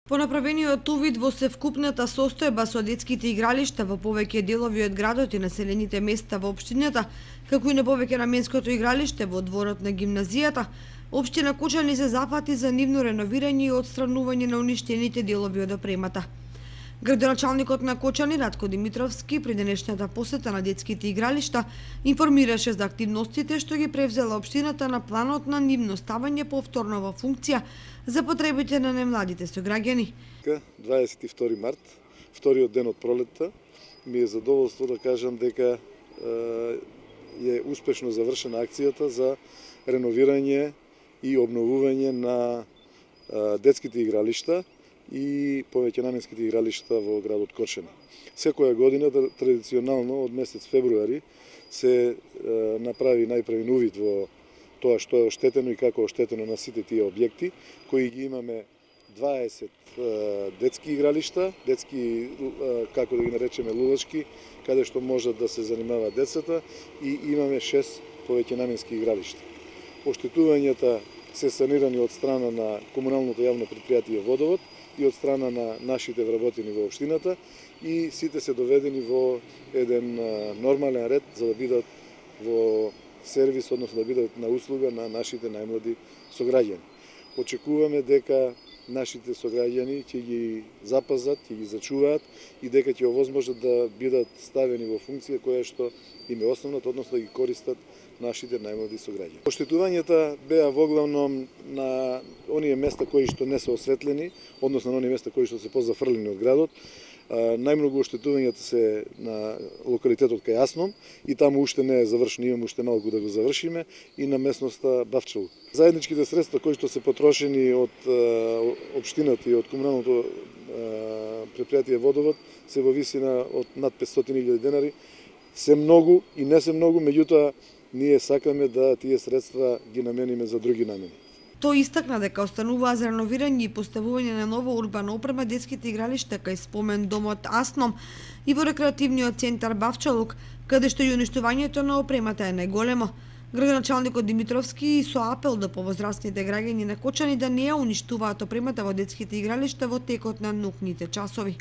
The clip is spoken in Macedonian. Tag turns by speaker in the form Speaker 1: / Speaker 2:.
Speaker 1: По направениот увид во севкупната состојба со детските игралишта во повеќе делови од градот и населените места во општината, како и на повеќе наменското игралиште во дворот на гимназијата, општина Кочани се зафати за нивно реновирање и отстранување на уништените делови од опремата. Градоначалникот на Кочани Ратко Димитровски при денешната посета на детските игралишта информираше за активностите што ги превзела општината на планот на нивно ставање повторно во функција за потребите на немладите сограѓани.
Speaker 2: 22 март, вториот ден од пролетта, ми е задоволство да кажам дека е успешно завршена акцијата за реновирање и обновување на детските игралишта и повеќе наменските игралишта во градот Кочани. Секоја година традиционално од месец февруари се направи најпрвен увид во тоа што е оштетено и како е оштетено на сите тие објекти, кои ги имаме 20 детски игралишта, детски, како да ги наречеме, лувачки, каде што можат да се занимаваат децата, и имаме 6 повеќе наменски игралишта. Оштетувањата се санирани од страна на комуналното јавно предпријатие Водовод и од страна на нашите вработени во општината, и сите се доведени во еден нормален ред за да бидат во сервис, односно да бидат на услуга на нашите најмлади сограѓани. Очекуваме дека нашите сограѓани ќе ги запазат, ќе ги зачуваат и дека ќе овозможат да бидат ставени во функција која што им е основната, односно да ги користат нашите најмлади сограѓани. Оштетувањата беа воглавном на оние места кои што не се осветлени, односно на оние места кои што се позафрлени од градот. Најмногу оштетувањата се на локалитетот кај Асном и таму уште не е завршено, имаме уште малку да го завршиме, и на местноста Бавчалук. Заедничките средства кои што се потрошени од општината и од комуналното предпријатие Водовод се во висина од над 500.000 денари. Се многу и не се многу, меѓутоа ние сакаме да тие средства ги намениме за други намени.
Speaker 1: Тој истакна дека остануваа за реновирање и поставување на нова урбана опрема детските игралишта кај спомен домот Асном и во рекреативниот центар Бавчалук, каде што и уништувањето на опремата е најголемо. Градоначалникот Димитровски со апел до повозрастните граѓани на Кочани да не ја уништуваат опремата во детските игралишта во текот на наукните часови.